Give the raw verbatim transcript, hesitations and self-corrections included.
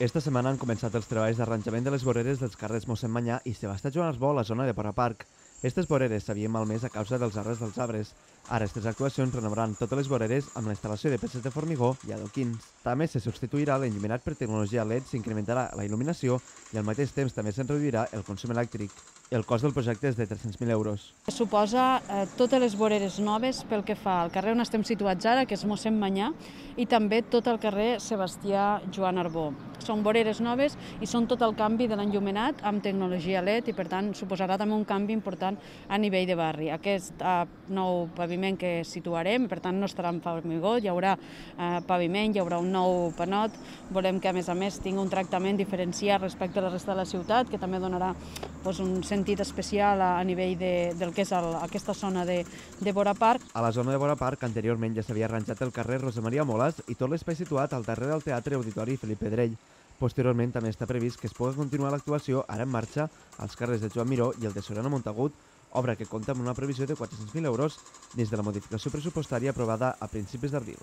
Esta setmana han començat els treballs d'arranjament de les voreres dels carrers Mossèn Manyà i Sebastià Joan Arbó a la zona de Vora Park. Aquestes voreres s'havien malmès a causa dels arbres dels arbres. Ara, aquestes actuacions renovaran totes les voreres amb la instal·lació de peces de formigó i adoquins. També se substituirà l'enllumenat per tecnologia L E D, s'incrementarà la il·luminació i al mateix temps també se'n reduirà el consum elèctric. El cost del projecte és de tres-cents mil euros. Suposa eh, totes les voreres noves pel que fa al carrer on estem situats ara, que és Mossèn Manyà, i també tot el carrer Sebastià Joan Arbó. Són voreres noves i són tot el canvi de l'enllumenat amb tecnologia L E D i, per tant, suposarà també un canvi important a nivell de barri. Aquest eh, nou paviment que situarem, per tant, no estarà en formigó, hi haurà eh, paviment, hi haurà un nou panot. Volem que, a més a més, tingui un tractament diferenciat respecte a la resta de la ciutat, que també donarà doncs, un sentit especial a, a nivell de, del que és el, aquesta zona de, de Vora Park. A la zona de Vora Park, anteriorment ja s'havia arranjat el carrer Rosa Maria Molas i tot l'espai situat al darrere del Teatre Auditori Felip Pedrell. Posteriorment també està previst que es pugui continuar l'actuació ara en marxa als carrers de Joan Miró i el de Soriano Montagut, obra que compta amb una previsió de quatre-cents mil euros des de la modificació pressupostària aprovada a principis d'abril.